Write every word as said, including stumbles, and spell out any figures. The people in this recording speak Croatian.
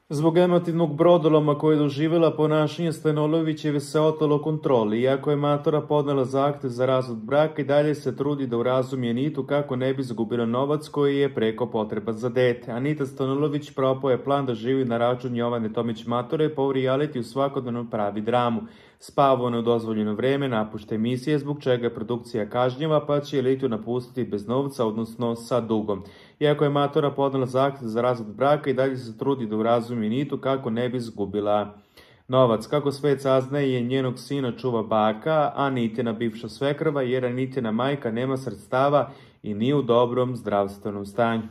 Zbog emotivnog brodoloma koje je doživjela, ponašanje Stanolovićeve se otelo kontroli. Iako je matora podnela zahtev za razvod braka, i dalje se trudi da urazumi Anitu kako ne bi izgubila novac koji je preko potreban za dete. Anita Stanolović propao je plan da živi na račun Jovane Tomić Matore, pa u realitiju svakodnevno pravi dramu. Spava u nedozvoljeno vreme, napušta emisije, zbog čega je produkcija kažnjava, pa će elitu napustiti bez novca, odnosno sa dugom. Iako je matora podnela zahtev za razvod braka, i dalje se trudi da urazumi Anitu kako ne bi izgubila novac. Kako svet saznaje, njenog sina čuva baka, a Anitina bivša svekrva, jer Anitina majka nema sredstava i nije u dobrom zdravstvenom stanju.